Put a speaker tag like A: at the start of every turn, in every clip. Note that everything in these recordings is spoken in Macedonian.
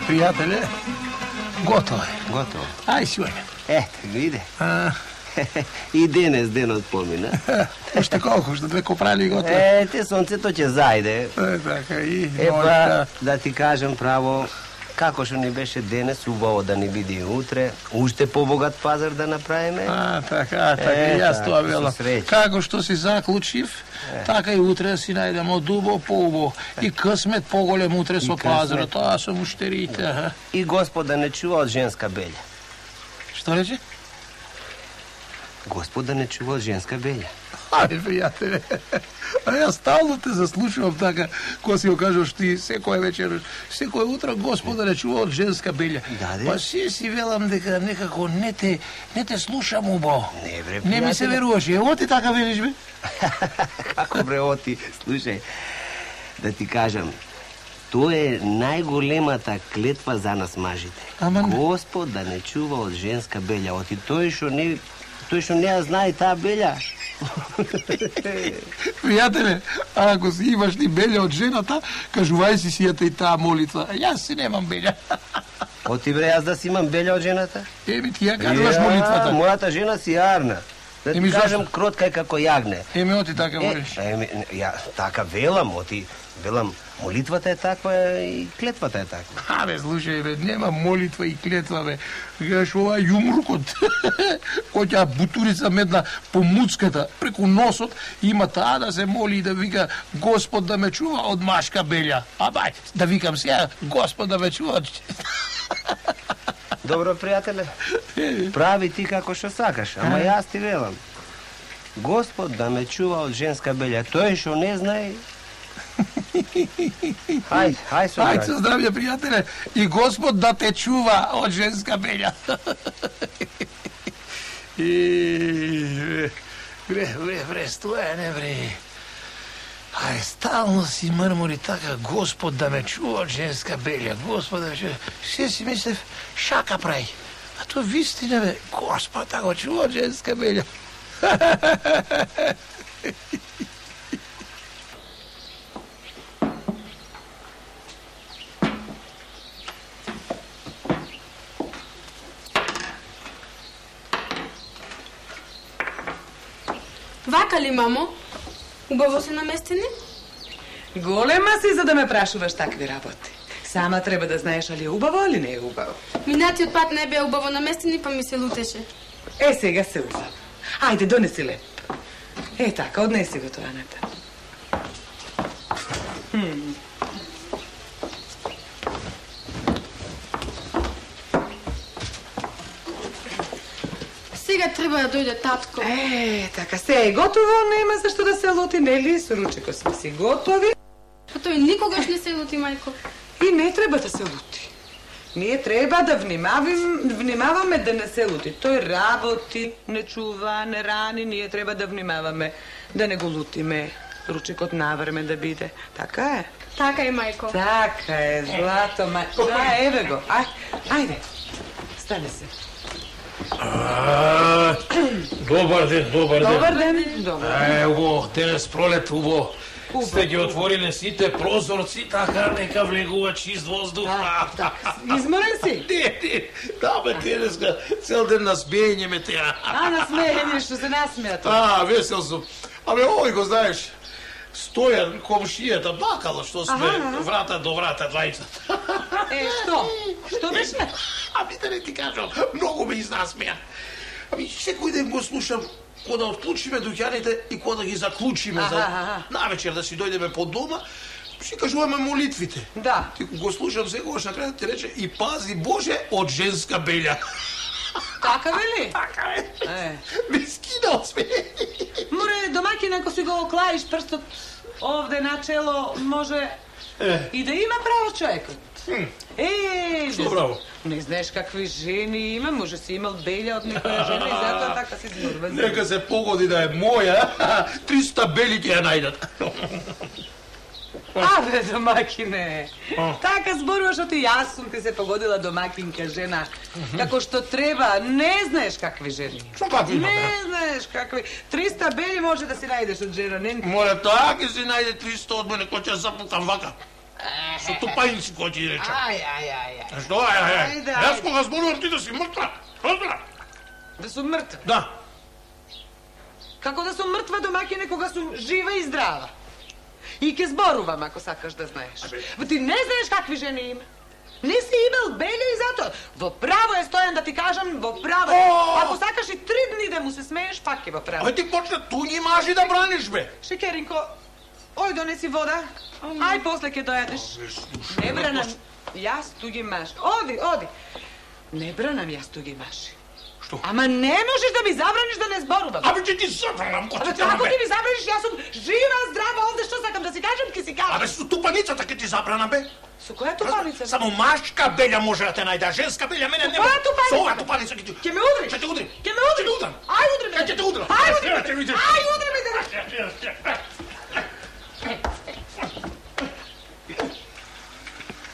A: Пријателе, готово е.
B: Готово.
A: Ај си ојме.
B: Ето, виде. И денес денот помина.
A: Уште колку, уште 2 копрали готово.
B: Те сонцето ќе зајде.
A: Така и...
B: Епа, да ти кажам право, како што ни беше денес, убаво да ни биде и утре, уште побогат пазар да направиме.
A: Така, јас тоа велам. Како што си заклучив, така и утре си најдемо дубо поубо. И късмет поголем утре со пазарот, тоа со муштерите.
B: И Господ да не чува од женска белја.
A: Што рече?
B: Господ да не чува од женска белја.
A: Ајде, пријателе, а јас стално те заслушувам така, кога си го кажеш ти секоја вечер, секој утро Господ да не чува од женска белја. Па си велам дека некако не те слушам убаво.
B: Не, бре,
A: не ми се веруваш. Ево ти така велиш, бе?
B: Како бре, оти, слушај, да ти кажам, тоа е најголемата клетва за нас мажите. Господ да не чува од женска белја, оти тој што не ја знае таа белја.
A: Пријателе, ако си имаш ни белја од жената, кажувај си сијата и таа молитва. Јас си немам белја.
B: Оти бре, јас да си имам белја од жената?
A: Еми ти ја кажуваш молитвата.
B: Мојата жена си јарна. Да ти кажам, кротка е како јагне.
A: Еми, оти така молиш.
B: Ја така велам, оти велам, молитвата е таква и клетвата е таква.
A: Абе, слушај, бе, нема молитва и клетва, бе. Гледаш ова јумрукот, кој ќе бутурица медна по муцката, преку носот, има таа да се моли и да вика Господ да ме чува од машка белја. А бај, да викам сега, Господ да ме чува од...
B: Добро, пријателе, прави ти како што сакаш, ама јас ти велам. Господ да ме чува од женска белја, тој што не знае... Хај со
A: здравје, пријателе, и Господ да те чува од женска белја. Бре, стоја, не бре. Ај, стално си мрмори така, Господ да ме чува од женска белја, Господ да ме чува. Се си мислев, шака прави. А тоа вистина, бе, Господ да го чува од женска белја.
C: Вака ли, мамо? Убаво се наместени?
D: Голема си за да ме прашуваш такви работи. Сама треба да знаеш али е убаво или не е убаво.
C: Минатиот пат не беа убаво наместени, па ми се лутеше.
D: Сега се убаво. Ајде, донеси леп. Така, однеси го тоа натаму.
C: Сега треба да дојде татко.
D: Така, се е готово, нема зашто да се лути, нели? Со ручеко сме си готови.
C: Па тој никогаш не се лути, мајко.
D: И не треба да се лути. Ние треба да внимаваме да не се лути. Тој работи, не чува, не рани, ние треба да внимаваме да не го лутиме. Ручекот навреме да биде. Така е?
C: Така е, мајко.
D: Така е, злато, мајко. Да, еве го. Ајде. Стане се.
A: Добар ден.
D: Добар ден.
A: Убаво, денес пролет, убаво. Сте ги отвориле сите прозорци, така нека влегува чист воздух.
D: Изморен си?
A: Не, да, бе, денеска цел ден насмејање ме теа.
D: Насмејање, што се насмеја тоа.
A: Весел сум. Абе, овој го знаеш, Стојан, комшијата, бакало што сме врата до врата двајцата.
D: Што? Што беше?
A: Да не ти кажам, многу ме изнасмеја. Секој ден го слушам кога да отклучиме дуќаните и кога да ги заклучиме за навечер да си дојдеме по дома, си кажуваме молитвите.
D: Да.
A: Ти го слушам секогаш на крајот ти рече и пази Боже од женска белја.
D: Така вели?
A: Така е. Ме скинал сме.
D: Море, домаќин, ако си го оклаиш прстот овде на чело, може и да има право човекот.
A: Што браво?
D: Не знаеш какви жени има, може си имал белја од некоја жена и затоа така се зборува.
A: Нека се погоди да е моја, 300 бели ќе ја најдат.
D: Абе, домакине, така зборуваш, оти јас сум ти се погодила домакинка жена, како што треба, не знаеш какви жени.
A: Што какви има?
D: Не знаеш какви, 300 бели може да си најдеш од жена, не?
A: Море, тоа ќе си најде 300 од мене, кој ќе запукам вака. Со тупаници кој ти рече.
D: Ај.
A: Што ај? Јас кога зборувам ти да си мртва.
D: Да сум мртва?
A: Да.
D: Како да сум мртва домаќине кога сум жива и здрава? И ќе зборувам ако сакаш да знаеш. Ти не знаеш какви жени има. Не си имал беле и затоа. Во право е Стојан да ти кажам, во право. Ако сакаш и 3 дни да му се смееш, пак е во право.
A: Ти почна туѓи мажи да браниш, бе.
D: Шекеринко, ој донеси вода. Ај после ќе дојдеш. Не бранам јас туѓи мажи. Оди. Не бранам јас туѓи мажи.
A: Што?
D: Ама не можеш да ми забраниш да не зборувам.
A: Абе ќе ти забранам, кој ти
D: Како ти ми забраниш? Јас сум жива, здрава овде, што сакам да си кажам, ќе си кажам.
A: Абе со тупаницата ќе ти забранам, бе.
D: Со која тупаница?
A: Само машка белја може да те најде, женска белја мене не.
D: Која тупаница?
A: Со оваа тупаница ќе ти.
D: Ќе ме удриш?
A: Ќе те удрим.
D: Ќе ме удриш?
A: Ќе те удрам.
D: Ај удри ме.
A: Ќе те удрам.
D: Ај удри ме.
A: Ќе видиш.
D: Ај удри ме.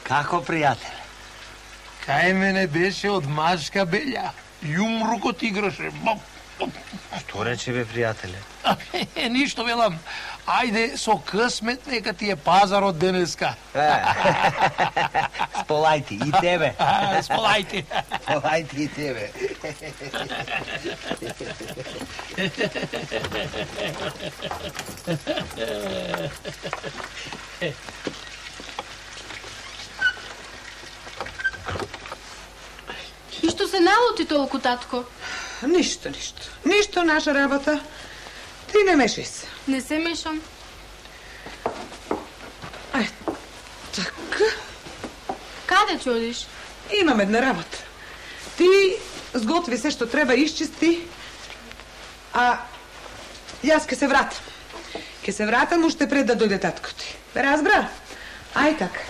B: Како, пријател?
A: Кај мене беше од машка белја. Јумрукот играше.
B: Што рече, бе, пријателе?
A: Ништо, велам. Ајде со късмет нека ти е пазарот денеска.
B: Сполајте и тебе.
A: Сполајте.
B: Сполајте и тебе.
C: И што се налути толку, татко?
D: Ништо. Ништо наша работа. Ти не мешај се.
C: Не се мешам.
D: Ај, така.
C: Каде ќе одиш?
D: Имам една работа. Ти сготви се што треба, исчисти, а јас ке се вратам. Ке се вратам уште пред да дојде татко ти. Разбра? Ај така.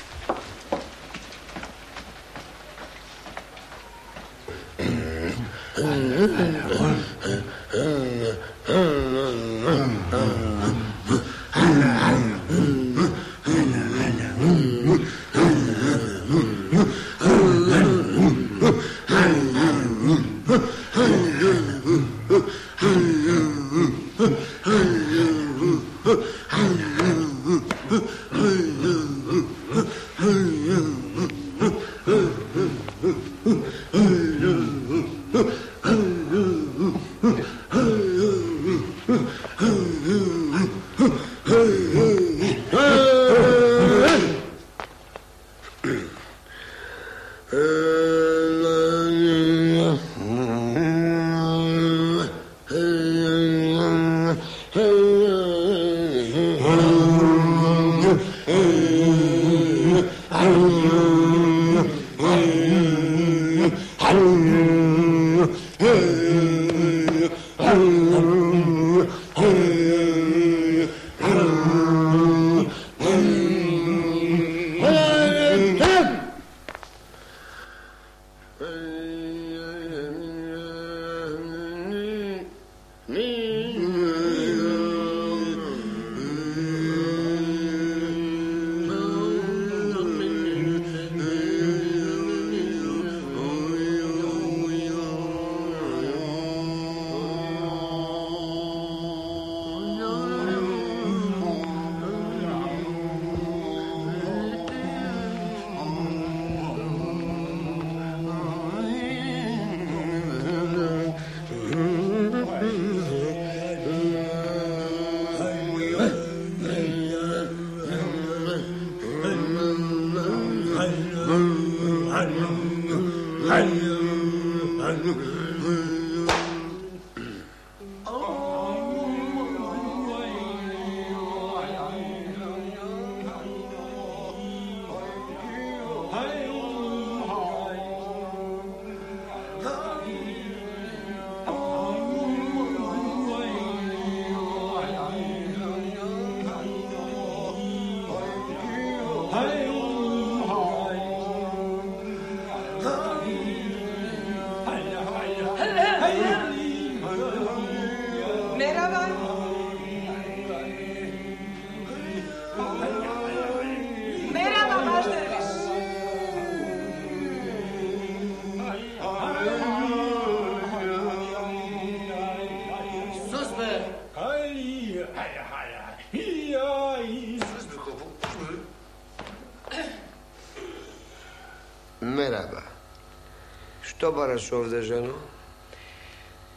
E: Што бараш овде, жено?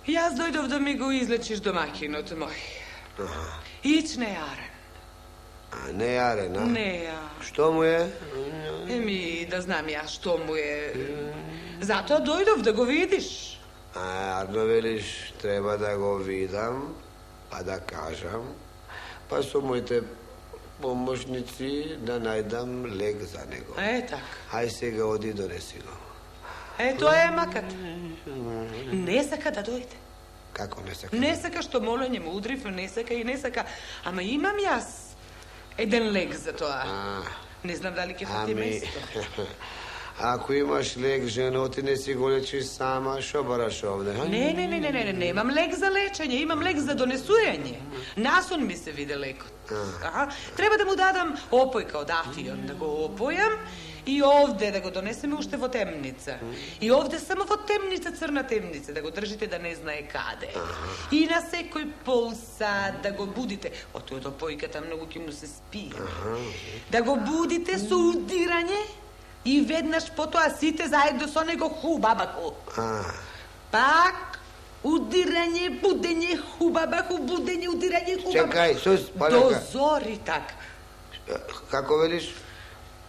D: Јас дојдов да ми го излечиш домакинот мој. Ич не јарен.
E: Не јарен, а?
D: Не ја.
E: Што му е?
D: Еми, да знам ја што му е. Затоа дојдов да го видиш.
E: Арно велиш, треба да го видам, па да кажам, па со моите помошници да најдам лек за него.
D: Така.
E: Хај сега оди донеси го.
D: Тоа е маката. Не сака да дојде.
E: Како не сака?
D: Не сака, што молење му удрив, не сака и не сака. Ама имам јас еден лек за тоа. Не знам дали ќе фати место.
E: Ако имаш лек, жено, ти не си го лечиш сама, шо бараш овде?
D: Не, немам лек за лечење, имам лек за донесување. Насон ми се виде лекот. Треба да му дадам опојка од афион, да го опојам и овде да го донесеме уште во темница. И овде само во темница, црна темница, да го држите да не знае каде. И на секој пол сат да го будите. Ото од опојката многу ќе му се спие. Да го будите со удирање и веднаш потоа сите заедно со него ху, баба ху. Пак удирање, будење, ху, баба ху, будење, удирање, ху, баба ху.
E: Чекај, сус,
D: до зори так.
E: Како велиш?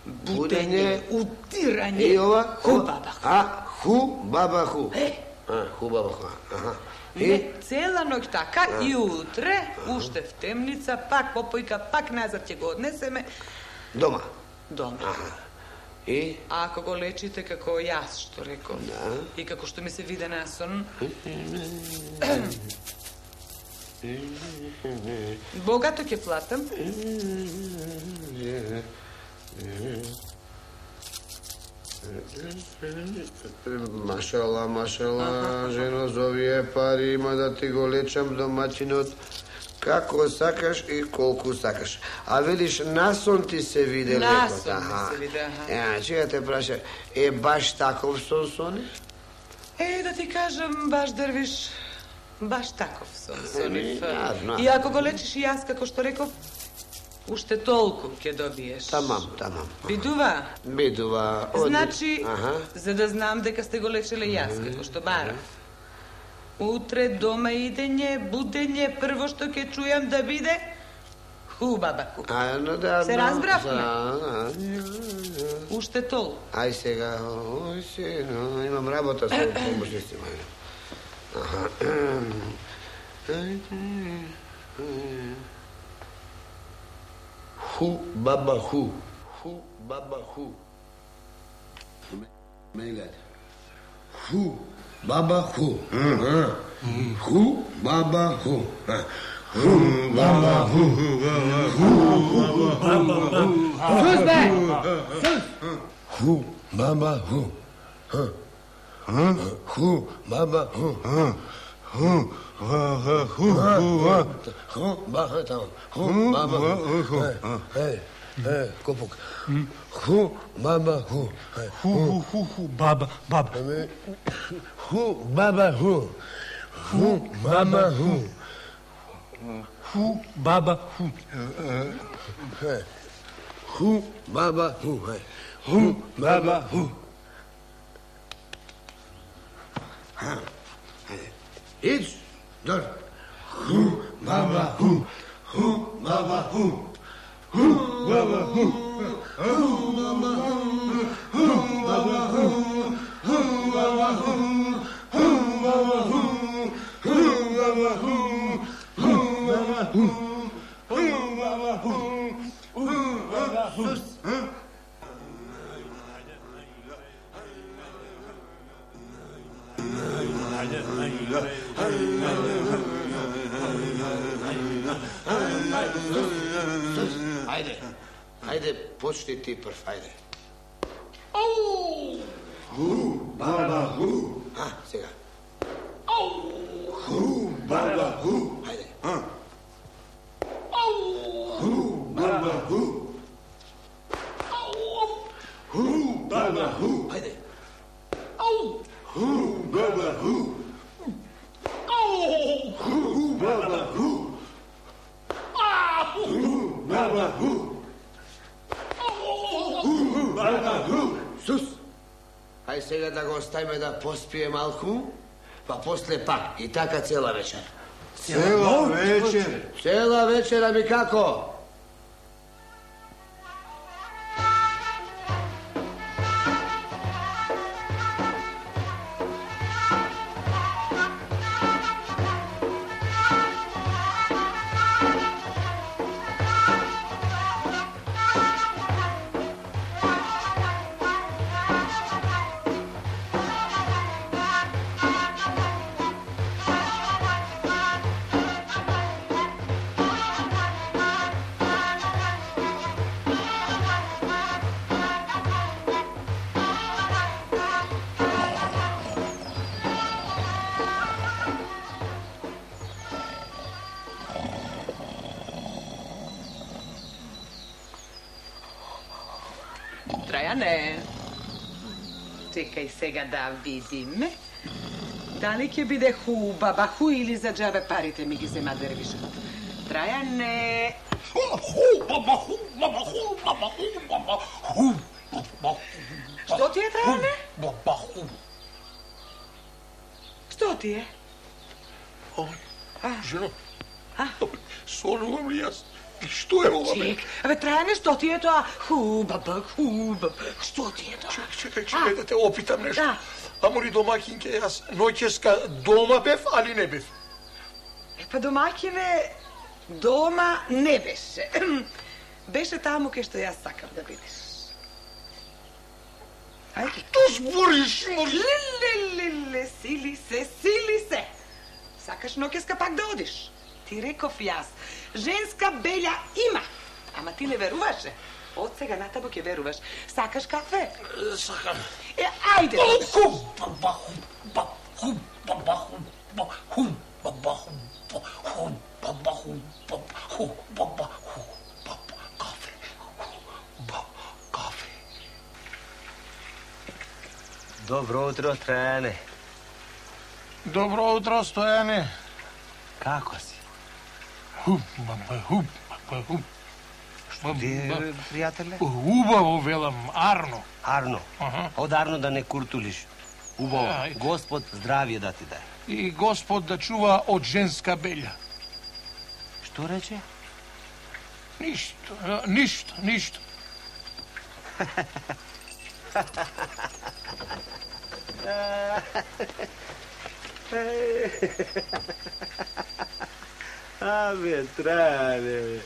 D: Будење, удирање,
E: и ова?
D: ху, баба ху.
E: Ху, баба ху. Ху, баба ху.
D: Не, цела ноќ така и утре, уште в темница, пак попојка, пак назад ќе го однесеме.
E: Дома?
D: Дома.
E: И?
D: Ако го лечите како јас што реков, и како што ми се виде на сон, богато ќе платам.
E: Машала, жено, за овие пари има да ти го лечам домачинот како сакаш и колку сакаш. А велиш, насон ти се виде лекот.
D: Насон ми се виде,
E: Чеја те праша, баш таков сон сони?
D: Да ти кажам, баш Дрвиш, баш таков сон сонив. И ако го лечиш и јас, како што реков, уште толку ќе добиеш.
E: Тамам.
D: Бидува?
E: Бидува.
D: Значи, за да знам дека сте го лечеле јас, како што барав. Утре дома идење, будење, прво што ќе чујам да биде ху, баба ху. Се разбравме? Уште толку.
E: Ај сега, имам работа со помошници. Ху, баба ху. Ху, баба ху. Мейлет. Ху, баба ху. Ху, баба ху. Ху, баба ху. Ху, баба ху. Ху, баба ху. Ху, баба ху. Ху, баба там. Ху, баба ху. Копук. Ху, баба ху.
A: Ху, баба.
E: Ху, баба ху. Ху, баба ху.
A: Ху, баба ху.
E: Ху, баба ху. Ху, баба ху. Иди, дор. Ху, баба ху. Ху, баба ху. Ху, баба ху. Ху, баба ху. Ху, баба ху. Ху, баба ху. Ху, баба ху. Ху, баба ху. Ху, баба ху. Ху, баба ху. Ху, баба ху. Ајде, почни ти прв, ајде. Ху, баба ху. Сега. Ху, баба ху. Ајде. Ху, баба ху. Ху, баба ху. Ајде. Ху, баба ху. Ху, баба ху. Ху, баба ху. Баба ху. Сус. Ај сега Иле да го оставиме да поспие малку, па после пак. И така цела вечер.
F: Цела вечер?
E: Цела вечер, ами како?
D: Трајане, чекај сега да видиме. Дали ќе биде баба ху или за џабе парите ми ги зема дервишот. Трајане. Што ти е, Трајане? Што ти е?
A: Жено, сонувам ли јас? Што е ова?
D: Чек, Трајане, што ти е тоа? Баба, што ти е тоа?
A: Чекај да те опитам нешто. Амори домакинке, јас ноќеска дома бев, али не бев?
D: Па домакине, дома не беше. Беше таму кај што јас сакам да бидеш. Ајде.
A: Што збориш, мори?
D: Лелелеле, сили се. Сакаш ноќеска пак да одиш? Ти реков јас, женска белја има, ама ти не веруваше. Од сега натаму ќе веруваш. Сакаш кафе?
A: Сакам.
D: Ајде.
A: Кафе.
B: Добро утро, Трајане.
A: Добро утро, Стојане.
B: Како си? Што ти е, пријателе?
A: Убаво, велам, Арно.
B: Арно. Од Арно да не куртулиш. Убаво. Господ здравје да ти дај.
A: И Господ да чува од женска белја.
B: Што рече?
A: Ништо.
B: Абе, Трајане, бе.